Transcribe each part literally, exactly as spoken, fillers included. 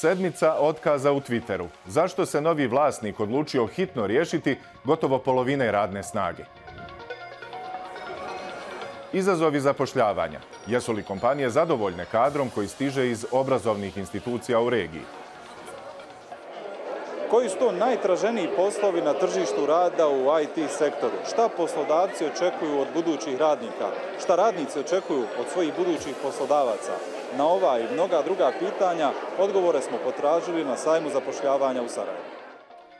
Sedmica otkaza u Twitteru. Zašto se novi vlasnik odlučio hitno riješiti gotovo polovine radne snage? Izazovi zapošljavanja. Jesu li kompanije zadovoljne kadrom koji stiže iz obrazovnih institucija u regiji? Koji su to najtraženiji poslovi na tržištu rada u I T sektoru? Šta poslodavci očekuju od budućih radnika? Šta radnici očekuju od svojih budućih poslodavaca? Na ova i mnoga druga pitanja odgovore smo potražili na sajmu zapošljavanja u Sarajevu.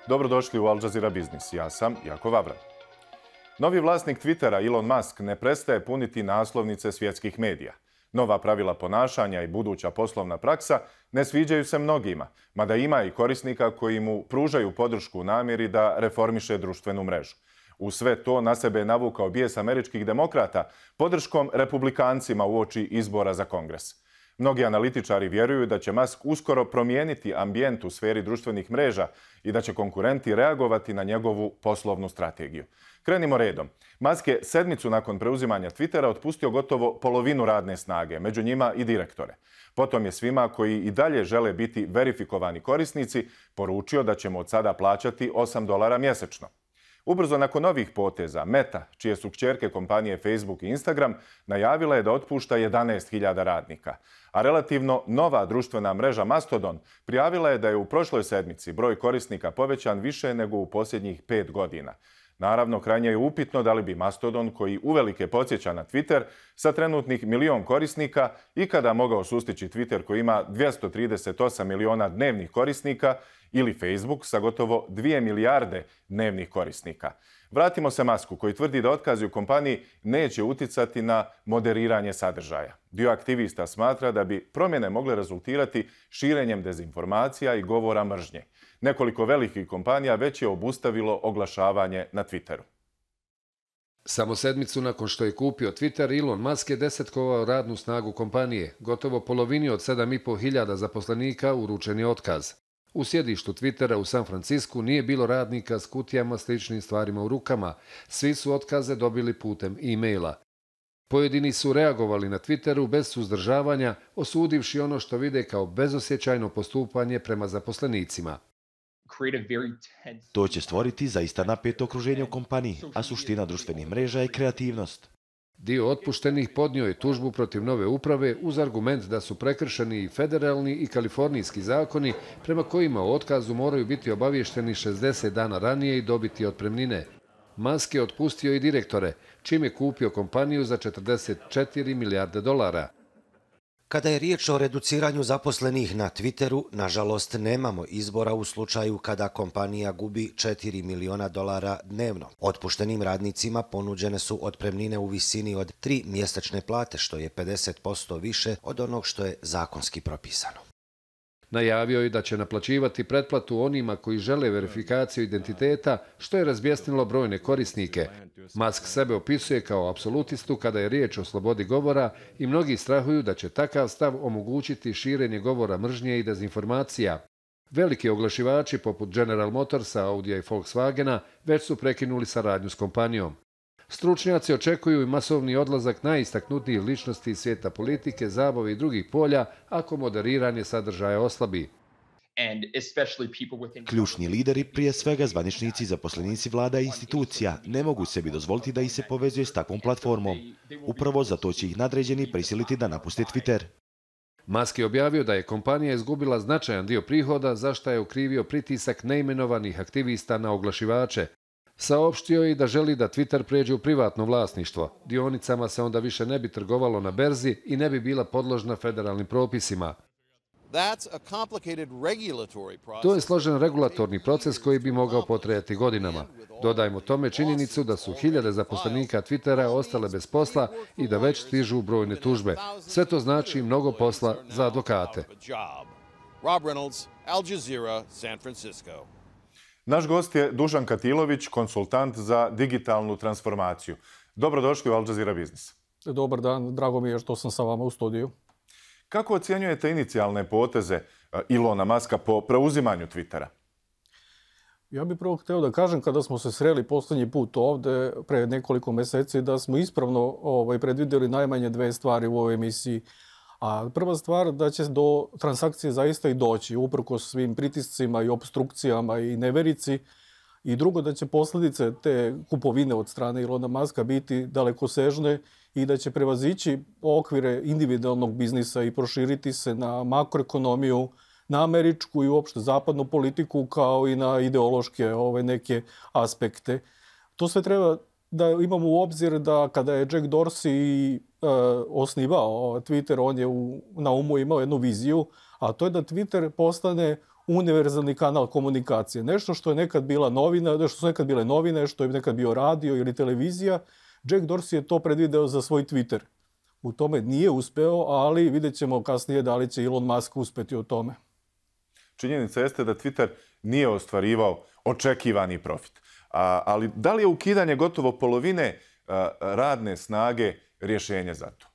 Dobrodošli u Al Jazeera Biznis. Ja sam Jako Vavran. Novi vlasnik Twittera Elon Musk ne prestaje puniti naslovnice svjetskih medija. Nova pravila ponašanja i buduća poslovna praksa ne sviđaju se mnogima, mada ima i korisnika koji mu pružaju podršku u namjeri da reformiše društvenu mrežu. U sve to na sebe je navukao bijes američkih demokrata podrškom republikancima uoči izbora za Kongres. Mnogi analitičari vjeruju da će Musk uskoro promijeniti ambijent u sferi društvenih mreža i da će konkurenti reagovati na njegovu poslovnu strategiju. Krenimo redom. Musk je sedmicu nakon preuzimanja Twittera otpustio gotovo polovinu radne snage, među njima i direktore. Potom je svima koji i dalje žele biti verifikovani korisnici poručio da ćemo od sada plaćati osam dolara mjesečno. Ubrzo nakon novih poteza, Meta, čije su kćerke kompanije Facebook i Instagram, najavila je da otpušta jedanaest hiljada radnika. A relativno nova društvena mreža Mastodon prijavila je da je u prošloj sedmici broj korisnika povećan više nego u posljednjih pet godina. Naravno, krajnje je upitno da li bi Mastodon, koji uvelike podsjeća na Twitter, sa trenutnih milion korisnika ikada mogao sustići Twitter koji ima dvjesto trideset osam miliona dnevnih korisnika ili Facebook sa gotovo dvije milijarde dnevnih korisnika. Vratimo se Musku koji tvrdi da otkazi u kompaniji neće uticati na moderiranje sadržaja. Dio aktivista smatra da bi promjene mogle rezultirati širenjem dezinformacija i govora mržnje. Nekoliko velikih kompanija već je obustavilo oglašavanje na Twitteru. Samo sedmicu nakon što je kupio Twitter, Elon Musk je desetkovao radnu snagu kompanije. Gotovo polovini od sedam i po hiljada zaposlenika uručen je otkaz. U sjedištu Twittera u San Francisku nije bilo radnika s kutijama sličnim stvarima u rukama. Svi su otkaze dobili putem e-maila. Pojedini su reagovali na Twitteru bez suzdržavanja, osudivši ono što vide kao bezosjećajno postupanje prema zaposlenicima. To će stvoriti zaista napeto okruženje u kompaniji, a suština društvenih mreža je kreativnost. Dio otpuštenih podnio je tužbu protiv nove uprave uz argument da su prekršeni i federalni i kalifornijski zakoni prema kojima o otkazu moraju biti obavješteni šezdeset dana ranije i dobiti otpremnine. Musk je otpustio i direktore, čim je kupio kompaniju za četrdeset četiri milijarde dolara. Kada je riječ o reduciranju zaposlenih na Twitteru, nažalost nemamo izbora u slučaju kada kompanija gubi četiri miliona dolara dnevno. Otpuštenim radnicima ponuđene su otpremnine u visini od tri mjesečne plate, što je pedeset posto više od onog što je zakonski propisano. Najavio je da će naplaćivati pretplatu onima koji žele verifikaciju identiteta, što je razbjesnilo brojne korisnike. Musk sebe opisuje kao apsolutistu kada je riječ o slobodi govora i mnogi strahuju da će takav stav omogućiti širenje govora mržnje i dezinformacija. Veliki oglašivači poput General Motorsa, Audija i Volkswagena već su prekinuli saradnju s kompanijom. Stručnjaci očekuju i masovni odlazak najistaknutijih ličnosti iz svijeta politike, zabave i drugih polja ako moderiranje sadržaja oslabi. Ključni lideri, prije svega zvaničnici, zaposlenici vlada i institucija, ne mogu sebi dozvoliti da ih se povezuje s takvom platformom. Upravo zato će ih nadređeni prisiliti da napuste Twitter. Musk je objavio da je kompanija izgubila značajan dio prihoda, za što je okrivio pritisak neimenovanih aktivista na oglašivače. Saopštio je i da želi da Twitter pređe u privatno vlasništvo. Dionicama se onda više ne bi trgovalo na berzi i ne bi bila podložna federalnim propisima. To je složen regulatorni proces koji bi mogao potrajati godinama. Dodajmo tome činjenicu da su hiljade zaposlenika Twittera ostale bez posla i da već stižu brojne tužbe. Sve to znači mnogo posla za advokate. Rob Reynolds, Al Jazeera, San Francisco. Naš gost je Dušan Katilović, konsultant za digitalnu transformaciju. Dobrodošli u Al Jazeera Biznis. Dobar dan, drago mi je što sam sa vama u studiju. Kako ocjenjujete inicijalne poteze Elona Muska po preuzimanju Twittera? Ja bih prvo htio da kažem, kada smo se sreli posljednji put ovde, pre nekoliko meseci, da smo ispravno ovaj, predvidjeli najmanje dve stvari u ovoj emisiji. A prva stvar da će do transakcije zaista i doći, uprkos svim pritiscima i obstrukcijama i neverici. I drugo, da će posljedice te kupovine od strane Ilona Maska biti dalekosežne i da će prevazići okvire individualnog biznisa i proširiti se na makroekonomiju, na američku i uopšte zapadnu politiku, kao i na ideološke ove neke aspekte. To sve treba da imamo u obzir da kada je Jack Dorsey uh, osnivao Twitter, on je u, na umu imao jednu viziju, a to je da Twitter postane univerzalni kanal komunikacije. Nešto što je nekad bila novina, nešto su nekad bile novine, što je nekad bio radio ili televizija, Jack Dorsey je to predvideo za svoj Twitter. U tome nije uspeo, ali vidjet ćemo kasnije da li će Elon Musk uspeti u tome. Činjenica jeste da Twitter nije ostvarivao očekivani profit. A, ali da li je ukidanje gotovo polovine a, radne snage rješenje za to?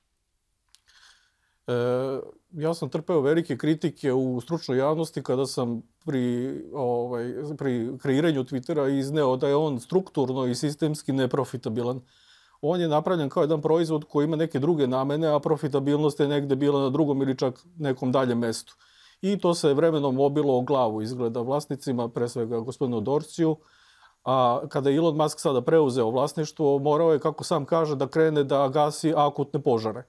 E, ja sam trpeo velike kritike u stručnoj javnosti kada sam pri, ovaj, pri kreiranju Twittera izneo da je on strukturno i sistemski neprofitabilan. On je napravljen kao jedan proizvod koji ima neke druge namene, a profitabilnost je negde bila na drugom ili čak nekom daljem mestu. I to se vremenom obilo o glavu izgleda vlasnicima, pre svega gospodinu Dorsiju. A kada je Elon Musk sada preuzeo vlasništvo, morao je, kako sam kaže, da krene da gasi akutne požare.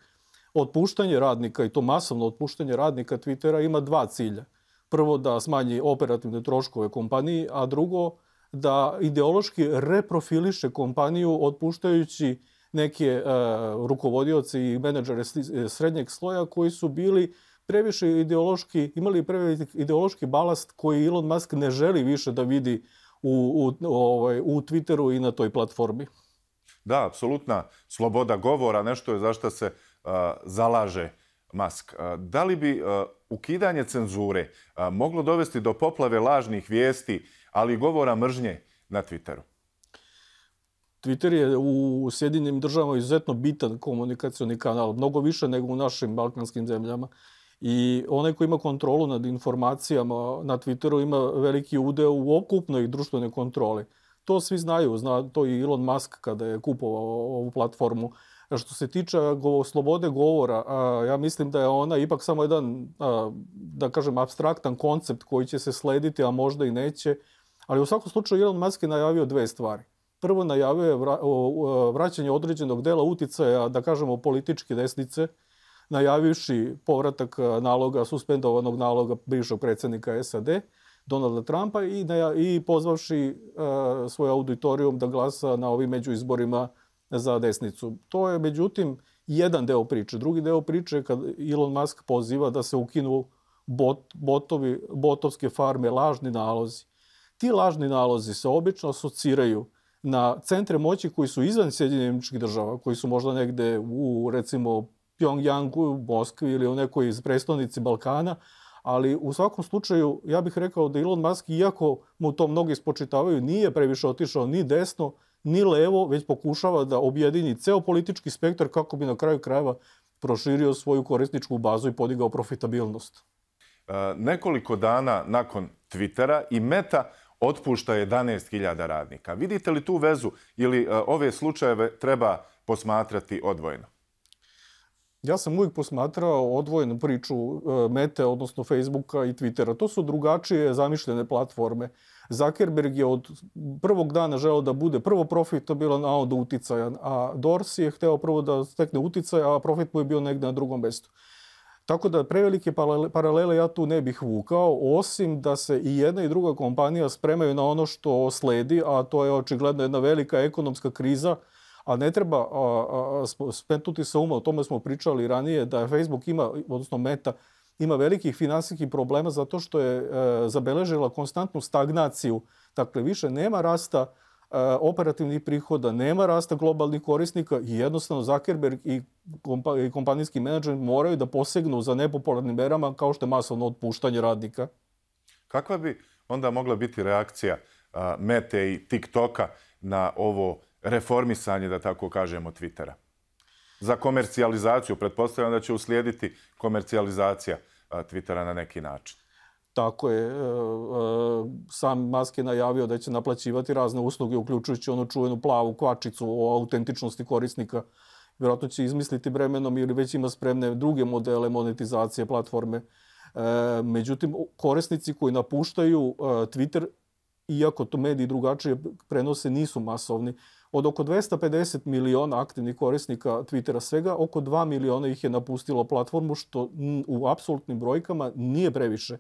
Otpuštanje radnika, i to masovno otpuštanje radnika Twittera, ima dva cilja. Prvo, da smanji operativne troškove kompaniji, a drugo, da ideološki reprofiliše kompaniju otpuštajući neke uh, rukovodioce i menadžere srednjeg sloja koji su bili previše ideološki, imali previše ideološki balast koji Elon Musk ne želi više da vidi u, u, ovaj, u Twitteru i na toj platformi. Da, apsolutna sloboda govora, nešto je za što se uh, zalaže Musk. Uh, da li bi uh, ukidanje cenzure uh, moglo dovesti do poplave lažnih vijesti, ali i govora mržnje na Twitteru? Twitter je u Sjedinjenim državama izuzetno bitan komunikacioni kanal, mnogo više nego u našim balkanskim zemljama. I onaj ko ima kontrolu nad informacijama na Twitteru ima veliki udeo u okupnoj društvenoj kontroli. To svi znaju, zna to i Elon Musk kada je kupovao ovu platformu. Što se tiče go, slobode govora, a, ja mislim da je ona ipak samo jedan, a, da kažem, apstraktan koncept koji će se slediti, a možda i neće. Ali u svakom slučaju Elon Musk je najavio dve stvari. Prvo, najavio je vra, o, vraćanje određenog dela uticaja, da kažemo, političke desnice, najavivši povratak naloga, suspendovanog naloga bivšeg predsjednika S A D, Donalda Trumpa, i, i pozvavši uh, svoj auditorijum da glasa na ovim međuizborima za desnicu. To je, međutim, jedan deo priče. Drugi deo priče je kad Elon Musk poziva da se ukinu bot, botovi, botovske farme, lažni nalozi. Ti lažni nalozi se obično asociraju na centre moći koji su izvan Sjedinjenih Američkih Država, koji su možda negde u, recimo, Pjongjangu, u Moskvi ili u nekoj prestonici Balkana, ali u svakom slučaju ja bih rekao da Elon Musk, iako mu to mnogi spočitavaju, nije previše otišao ni desno, ni levo, već pokušava da objedini ceo politički spektar kako bi na kraju krajeva proširio svoju korisničku bazu i podigao profitabilnost. E, nekoliko dana nakon Twittera i Meta otpušta jedanaest hiljada radnika. Vidite li tu vezu ili e, ove slučajeve treba posmatrati odvojeno? Ja sam uvijek posmatrao odvojenu priču Mete, odnosno Facebooka i Twittera. To su drugačije zamišljene platforme. Zuckerberg je od prvog dana želeo da bude prvo profitabilan, a onda uticajan. A Dorsey je hteo prvo da stekne uticaj, a profit mu je bio negde na drugom mestu. Tako da prevelike paralele ja tu ne bih vukao, osim da se i jedna i druga kompanija spremaju na ono što sledi, a to je očigledno jedna velika ekonomska kriza. A ne treba smetnuti se uma, o tome smo pričali ranije, da Facebook ima, odnosno Meta, ima velikih finansijskih problema zato što je e, zabeležila konstantnu stagnaciju. Dakle, više nema rasta e, operativnih prihoda, nema rasta globalnih korisnika i jednostavno Zuckerberg i, kompa, i kompanijski menadžer moraju da posegnu za nepopularnim merama kao što je masovno otpuštanje radnika. Kakva bi onda mogla biti reakcija a, Mete i TikToka na ovo reformisanje, da tako kažemo, Twittera? Za komercijalizaciju, pretpostavljam da će uslijediti komercijalizacija Twittera na neki način. Tako je. Sam Musk je najavio da će naplaćivati razne usluge, uključujući onu čuvenu plavu kvačicu o autentičnosti korisnika Vjerojatno će izmisliti vremenom ili već ima spremne druge modele monetizacije platforme. Međutim, korisnici koji napuštaju Twitter, iako to mediji drugačije prenose, nisu masovni. Od oko dvesta pedeset miliona aktivnih korisnika Twittera svega, oko dva miliona ih je napustilo platformu, što u apsolutnim brojkama nije previše.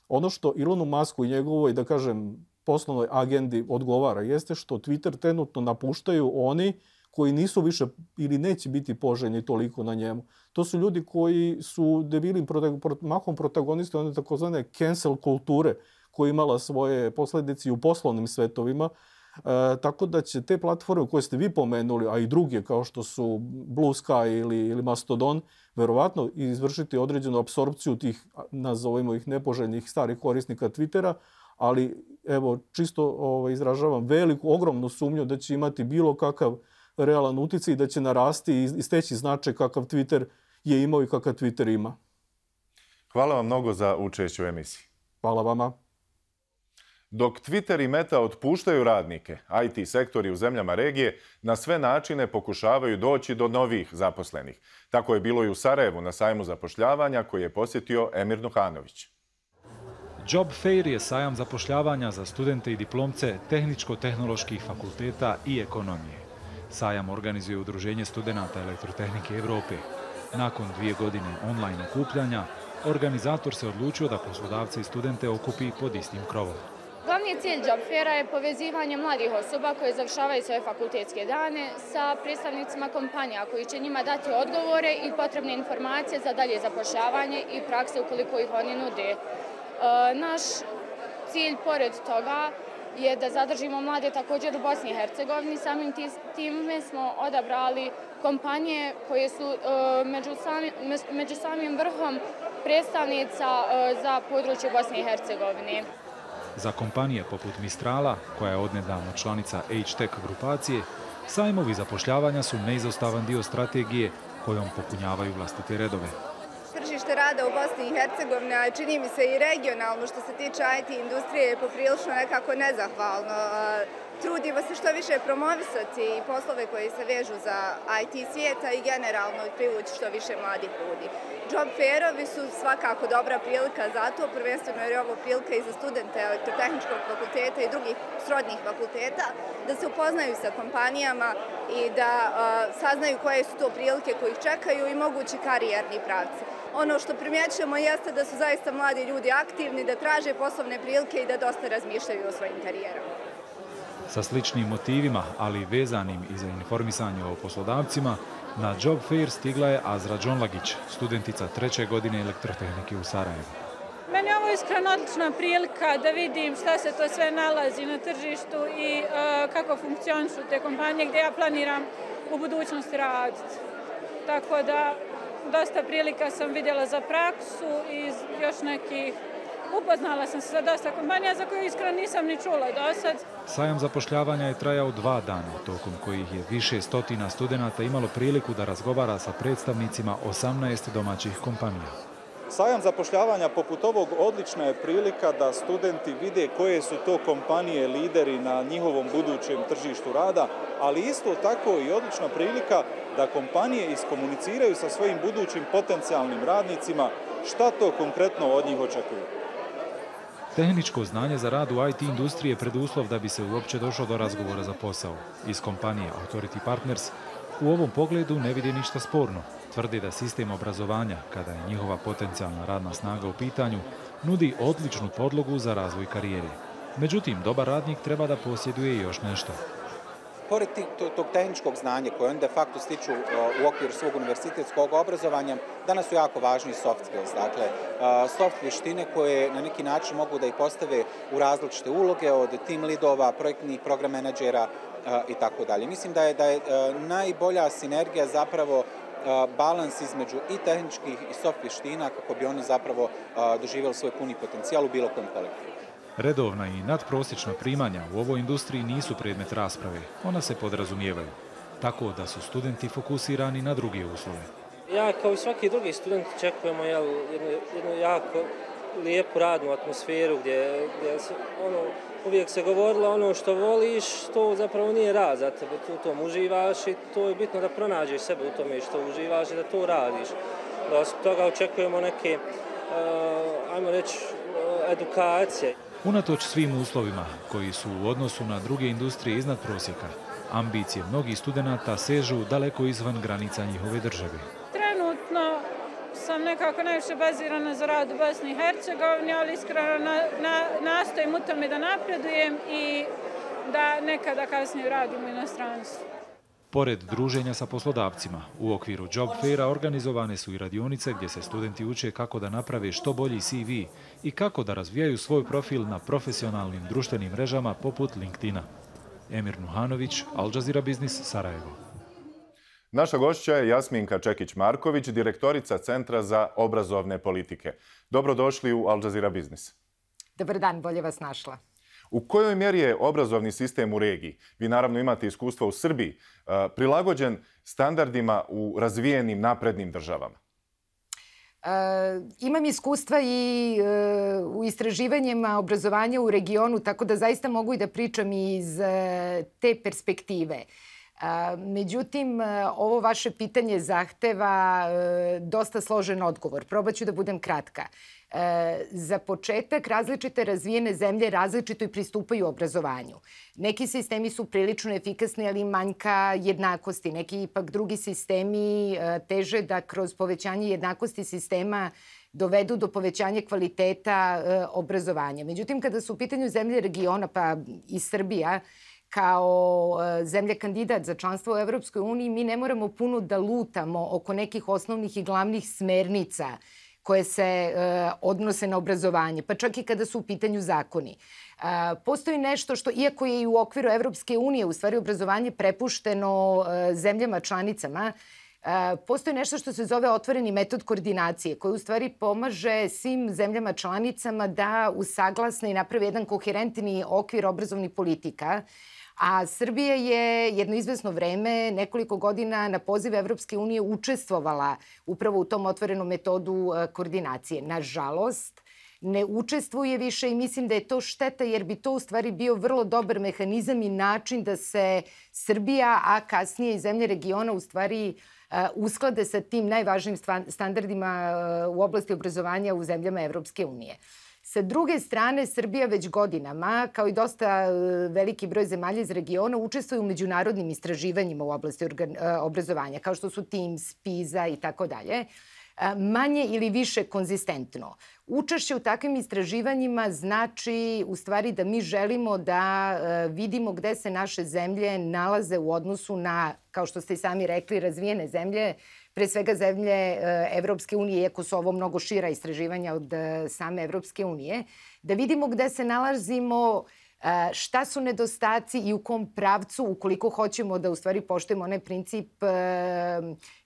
Ono što Elonu Musku i njegovoj, da kažem, poslovnoj agendi odgovara jeste što Twitter trenutno napuštaju oni koji nisu više ili neće biti poželjni toliko na njemu. To su ljudi koji su debilim mahom protagonisti one takozvane cancel kulture, koja je imala svoje posljedice u poslovnim svetovima. E, tako da će te platforme koje ste vi pomenuli, a i druge kao što su Blue Sky ili, ili Mastodon, verovatno izvršiti određenu apsorpciju tih, nazovimo ih, nepoželjnih starih korisnika Twittera, ali evo, čisto ovaj, izražavam veliku, ogromnu sumnju da će imati bilo kakav realan utjecaj i da će narasti i steći značaj kakav Twitter je imao i kakav Twitter ima. Hvala vam mnogo za učešće u emisiji. Hvala vama. Dok Twitter i Meta otpuštaju radnike, I T sektori u zemljama regije na sve načine pokušavaju doći do novih zaposlenih. Tako je bilo i u Sarajevu na sajmu zapošljavanja koji je posjetio Emir Nuhanović. Job Fair je sajam zapošljavanja za studente i diplomce tehničko-tehnoloških fakulteta i ekonomije. Sajam organizuje Udruženje studenata elektrotehnike Evrope. Nakon dvije godine online okupljanja, organizator se odlučio da poslodavce i studente okupi pod istim krovom. Glavni cilj Job Faira je povezivanje mladih osoba koje završavaju svoje fakultetske dane sa predstavnicima kompanija koji će njima dati odgovore i potrebne informacije za dalje zapošljavanje i prakse ukoliko ih oni nude. Naš cilj, pored toga, je da zadržimo mlade također u Bosni i Hercegovini. Samim time smo odabrali kompanije koje su među, sami, među samim vrhom predstavnica za područje Bosne i Hercegovine. Za kompanije poput Mistrala, koja je odnedavno članica H-Tech grupacije, sajmovi zapošljavanja su neizostavan dio strategije kojom popunjavaju vlastite redove. Tržište rada u Bosni i Hercegovini, a čini mi se i regionalno što se tiče I T industrije, je poprilično nekako nezahvalno. Trudimo se što više promovisati poslove koji se vežu za I T svijeta i generalno privući što više mladih ljudi. Job Fairovi su svakako dobra prilika za to, prvenstveno jer je ovo prilika i za studente elektrotehničkog fakulteta i drugih srodnih fakulteta, da se upoznaju sa kompanijama i da uh, saznaju koje su to prilike koje ih čekaju i mogući karijerni pravci. Ono što primjećujemo jeste da su zaista mladi ljudi aktivni, da traže poslovne prilike i da dosta razmišljaju o svojim karijerama. Sa sličnim motivima, ali vezanim i za informisanje o poslodavcima, na Job Fair stigla je Azra Džonlagić, studentica treće godine elektrotehnike u Sarajevu. Meni je ovo iskreno odlična prilika da vidim šta se to sve nalazi na tržištu i uh, kako funkcionišu te kompanije gdje ja planiram u budućnosti raditi. Tako da dosta prilika sam vidjela za praksu i još nekih upoznala sam se sa dosta kompanija za koje iskreno nisam ni čula do sad. Sajam zapošljavanja je trajao dva dana, tokom kojih je više stotina studenata imalo priliku da razgovara sa predstavnicima osamnaest domaćih kompanija. Sajam zapošljavanja poput ovog odlična je prilika da studenti vide koje su to kompanije lideri na njihovom budućem tržištu rada, ali isto tako i odlična prilika da kompanije iskomuniciraju sa svojim budućim potencijalnim radnicima šta to konkretno od njih očekuju. Tehničko znanje za rad u I T industriji je preduslov da bi se uopće došlo do razgovora za posao. Iz kompanije Authority Partners u ovom pogledu ne vidi ništa sporno. Tvrdi da sistem obrazovanja, kada je njihova potencijalna radna snaga u pitanju, nudi odličnu podlogu za razvoj karijere. Međutim, dobar radnik treba da posjeduje još nešto. Pored tog tehničkog znanja koje on de facto stiču u okviru svog univerzitetskog obrazovanja, danas su jako važni soft skills, dakle soft vještine koje na neki način mogu da ih postave u različite uloge, od team leadova, projektnih program menadžera i tako dalje. Mislim da je, da je najbolja sinergija zapravo balans između i tehničkih i soft vještina kako bi oni zapravo doživjeli svoj puni potencijal u bilo kojem kolektivu. Redovna i nadprosječna primanja u ovoj industriji nisu predmet rasprave, ona se podrazumijevaju, tako da su studenti fokusirani na druge uslove. Ja kao i svaki drugi student očekujemo jednu, jednu jako lijepu radnu atmosferu gdje, gdje se, ono, uvijek se govorilo ono što voliš, to zapravo nije rad za tebe, tu u tom uživaš i to je bitno da pronađeš sebe u tome što uživaš i da to radiš. Da od toga očekujemo neke, uh, ajmo reći, uh, edukacije. Unatoč svim uslovima koji su u odnosu na druge industrije iznad prosjeka, ambicije mnogih studenata sežu daleko izvan granica njihove države. Trenutno sam nekako najviše bazirana za rad u Bosni i Hercegovini, ali iskreno na, na, nastojim u tome da napredujem i da nekada kasnije radim u inostranstvu. Pored druženja sa poslodavcima, u okviru Job Faira organizovane su i radionice gdje se studenti uče kako da naprave što bolji C V i kako da razvijaju svoj profil na profesionalnim društvenim mrežama poput LinkedIna. Emir Nuhanović, Al Jazeera Biznis, Sarajevo. Naša gošća je Jasminka Čekić-Marković, direktorica Centra za obrazovne politike. Dobrodošli u Al Jazeera Biznis. Dobar dan, bolje vas našla. U kojoj mjeri je obrazovni sistem u regiji, vi naravno imate iskustva u Srbiji, prilagođen standardima u razvijenim naprednim državama? E, imam iskustva i e, u istraživanjima obrazovanja u regionu, tako da zaista mogu i da pričam iz e, te perspektive. E, međutim, ovo vaše pitanje zahteva e, dosta složen odgovor. Probat ću da budem kratka. E, za početak, različite razvijene zemlje različito i pristupaju obrazovanju. Neki sistemi su prilično efikasni, ali manjka jednakosti. Neki ipak drugi sistemi e, teže da kroz povećanje jednakosti sistema dovedu do povećanja kvaliteta e, obrazovanja. Međutim, kada su u pitanju zemlje regiona, pa i Srbija, kao zemlja kandidat za članstvo u Evropskoj uniji, mi ne moramo puno da lutamo oko nekih osnovnih i glavnih smernica koje se e, odnose na obrazovanje, pa čak i kada su u pitanju zakoni. E, postoji nešto što, iako je i u okviru Evropske unije, u stvari obrazovanje prepušteno e, zemljama članicama, e, postoji nešto što se zove otvoreni metod koordinacije, koji u stvari pomaže svim zemljama članicama da usaglasne i napravi jedan koherentni okvir obrazovnih politika. A Srbija je jedno izvesno vreme, nekoliko godina na poziv Evropske unije učestvovala upravo u tom otvorenom metodu koordinacije. Nažalost, ne učestvuje više i mislim da je to šteta jer bi to u stvari bio vrlo dobar mehanizam i način da se Srbija, a kasnije i zemlje regiona u stvari usklade sa tim najvažnijim standardima u oblasti obrazovanja u zemljama Evropske unije. Sa druge strane, Srbija već godinama, kao i dosta veliki broj zemalja iz regiona, učestvuje u međunarodnim istraživanjima u oblasti obrazovanja, kao što su TIMSS, PISA i tako dalje, manje ili više konzistentno. Učešće u takvim istraživanjima znači u stvari da mi želimo da vidimo gde se naše zemlje nalaze u odnosu na, kao što ste i sami rekli, razvijene zemlje, pre svega zemlje Evropske unije, iako su ovo mnogo šira istraživanja od same Evropske unije, da vidimo gde se nalazimo, šta su nedostaci i u kom pravcu, ukoliko hoćemo da u stvari poštujemo onaj princip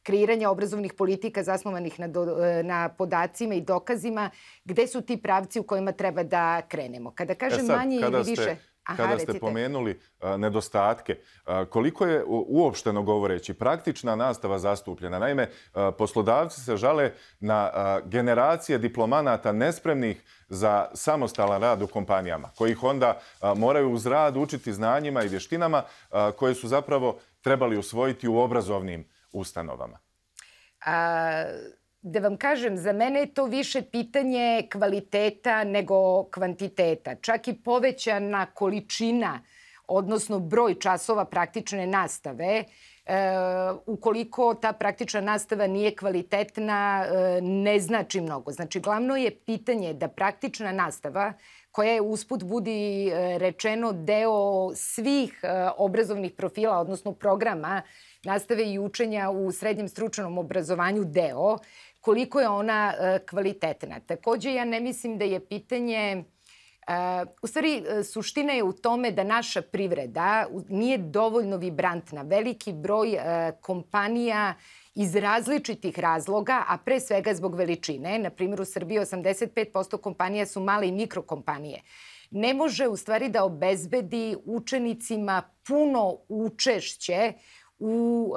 kreiranja obrazovnih politika zasnovanih na, do, na podacima i dokazima, gde su ti pravci u kojima treba da krenemo. Kada kažem e sad, manje ili ste... više... Aha, Kada ste recite. pomenuli a, nedostatke, a, koliko je uopšteno govoreći praktična nastava zastupljena? Naime, a, poslodavci se žale na a, generacije diplomanata nespremnih za samostalan rad u kompanijama, kojih onda a, moraju uz rad učiti znanjima i vještinama a, koje su zapravo trebali usvojiti u obrazovnim ustanovama. A... Da vam kažem, za mene je to više pitanje kvaliteta nego kvantiteta. Čak i povećana količina, odnosno broj časova praktične nastave, e, ukoliko ta praktična nastava nije kvalitetna, e, ne znači mnogo. Znači, glavno je pitanje da praktična nastava, koja je usput budi rečeno deo svih e, obrazovnih profila, odnosno programa nastave i učenja u srednjem stručnom obrazovanju deo, koliko je ona kvalitetna. Također, ja ne mislim da je pitanje... U stvari, suština je u tome da naša privreda nije dovoljno vibrantna. Veliki broj kompanija iz različitih razloga, a pre svega zbog veličine, na primjer u Srbiji osamdeset pet posto kompanija su male i mikrokompanije, ne može u stvari da obezbedi učenicima puno učešće u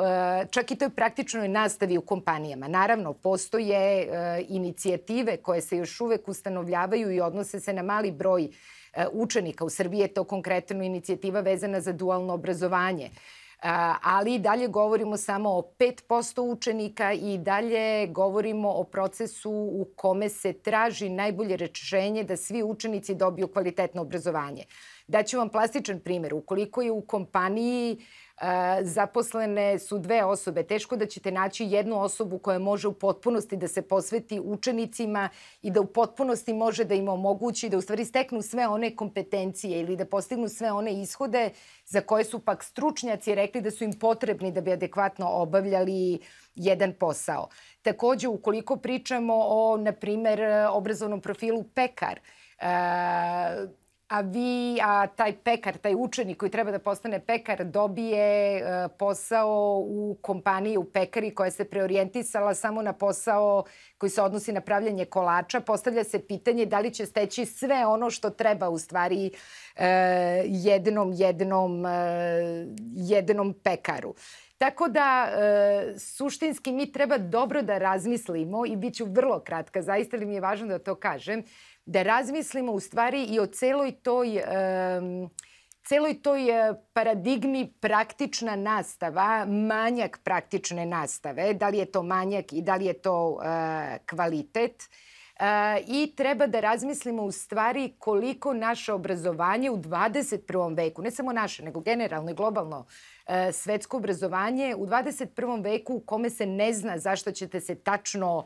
čak i toj praktičnoj nastavi u kompanijama. Naravno, postoje inicijative koje se još uvek ustanovljavaju i odnose se na mali broj učenika. U Srbiji je to konkretno inicijativa vezana za dualno obrazovanje. Ali i dalje govorimo samo o pet posto učenika i dalje govorimo o procesu u kome se traži najbolje rešenje da svi učenici dobiju kvalitetno obrazovanje. Daću vam plastičan primjer. Ukoliko je u kompaniji zaposlene su dve osobe, teško da ćete naći jednu osobu koja može u potpunosti da se posveti učenicima i da u potpunosti može da im omogući da u stvari steknu sve one kompetencije ili da postignu sve one ishode za koje su pak stručnjaci rekli da su im potrebni da bi adekvatno obavljali jedan posao. Takođe, ukoliko pričamo o, na primer, obrazovnom profilu pekar, a vi, a taj pekar, taj učenik koji treba da postane pekar dobije posao u kompaniji u pekari koja se preorijentisala samo na posao koji se odnosi na pravljanje kolača, postavlja se pitanje da li će steći sve ono što treba u stvari jednom, jednom, jednom pekaru. Tako da, suštinski mi treba dobro da razmislimo i bit ću vrlo kratka, zaista li mi je važno da to kažem, da razmislimo u stvari i o celoj toj, celoj toj paradigmi praktična nastava, manjak praktične nastave, da li je to manjak i da li je to kvalitet. I treba da razmislimo u stvari koliko naše obrazovanje u dvadeset prvom veku, ne samo naše, nego generalno i globalno svetsko obrazovanje, u dvadeset prvom veku u kome se ne zna zašto ćete se tačno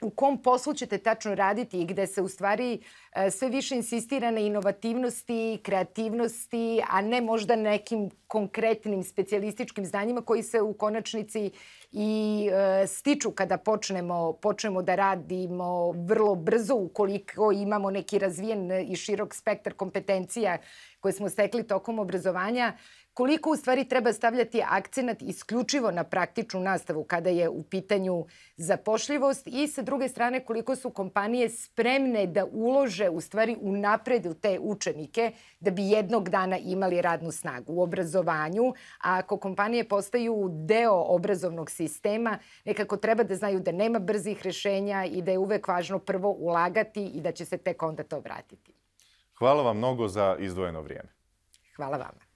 u kom poslu ćete tačno raditi i gde se u stvari sve više insistira na inovativnosti, kreativnosti, a ne možda nekim konkretnim specijalističkim znanjima koji se u konačnici i stiču kada počnemo, počnemo da radimo vrlo brzo ukoliko imamo neki razvijen i širok spektar kompetencija koje smo stekli tokom obrazovanja. Koliko u stvari treba stavljati akcenat isključivo na praktičnu nastavu kada je u pitanju zapošljivost i sa druge strane koliko su kompanije spremne da ulože u stvari u napred u te učenike da bi jednog dana imali radnu snagu u obrazovanju, a ako kompanije postaju deo obrazovnog sistema, nekako treba da znaju da nema brzih rešenja i da je uvek važno prvo ulagati i da će se tek onda to vratiti. Hvala vam mnogo za izdvojeno vrijeme. Hvala vama.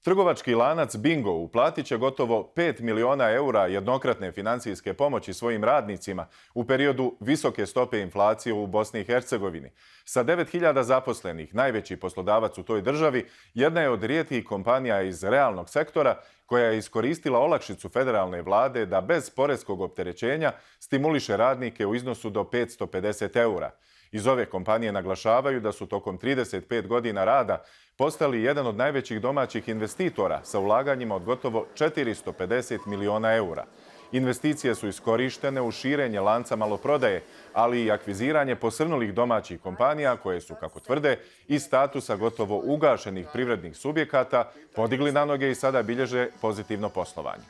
Trgovački lanac Bingo uplatit će gotovo pet miliona eura jednokratne financijske pomoći svojim radnicima u periodu visoke stope inflacije u Bosni i Hercegovini. Sa devet hiljada zaposlenih, najveći poslodavac u toj državi, jedna je od rijetkih kompanija iz realnog sektora koja je iskoristila olakšicu federalne vlade da bez poreskog opterećenja stimuliše radnike u iznosu do petsto pedeset eura. Iz ove kompanije naglašavaju da su tokom trideset pet godina rada postali jedan od najvećih domaćih investitora sa ulaganjima od gotovo četiristo pedeset miliona eura. Investicije su iskorištene u širenje lanca maloprodaje, ali i akviziranje posrnulih domaćih kompanija koje su, kako tvrde, iz statusa gotovo ugašenih privrednih subjekata podigli na noge i sada bilježe pozitivno poslovanje.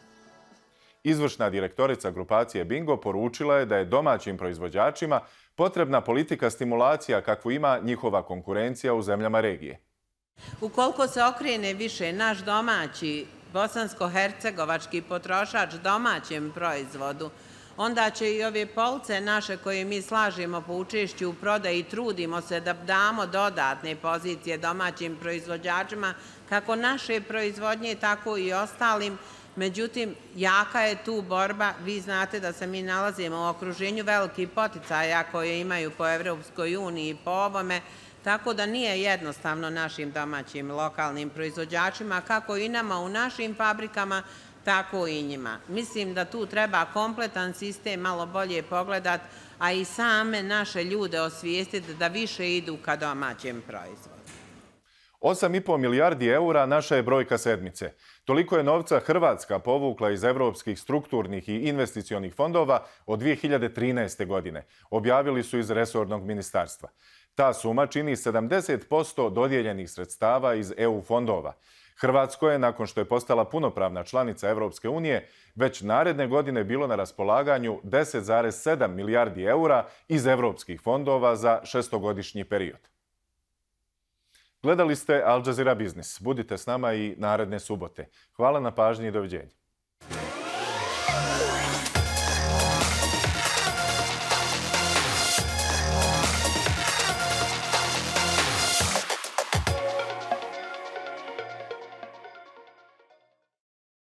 Izvršna direktorica grupacije Bingo poručila je da je domaćim proizvođačima potrebna politika stimulacija kakvu ima njihova konkurencija u zemljama regije. Ukoliko se okrene više naš domaći bosansko-hercegovački potrošač domaćem proizvodu, onda će i ove police naše koje mi slažemo po učešću u prodaji i trudimo se da damo dodatne pozicije domaćim proizvođačima, kako naše proizvodnje, tako i ostalim. Međutim, jaka je tu borba. Vi znate da se mi nalazimo u okruženju velikih poticaja koje imaju po Evropskoj uniji i po ovome, tako da nije jednostavno našim domaćim lokalnim proizvođačima, kako i nama u našim fabrikama, tako i njima. Mislim da tu treba kompletan sistem malo bolje pogledati, a i same naše ljude osvijestiti da više idu ka domaćem proizvodu. osam i po milijardi eura naša je brojka sedmice. Toliko je novca Hrvatska povukla iz evropskih strukturnih i investicionih fondova od dvije hiljade trinaeste. godine. Objavili su iz resornog ministarstva. Ta suma čini sedamdeset posto dodijeljenih sredstava iz E U fondova. Hrvatsko je, nakon što je postala punopravna članica Evropske unije, već naredne godine bilo na raspolaganju deset zarez sedam milijardi eura iz evropskih fondova za šestogodišnji period. Gledali ste Al Jazeera Biznis. Budite s nama i naredne subote. Hvala na pažnji i doviđenja.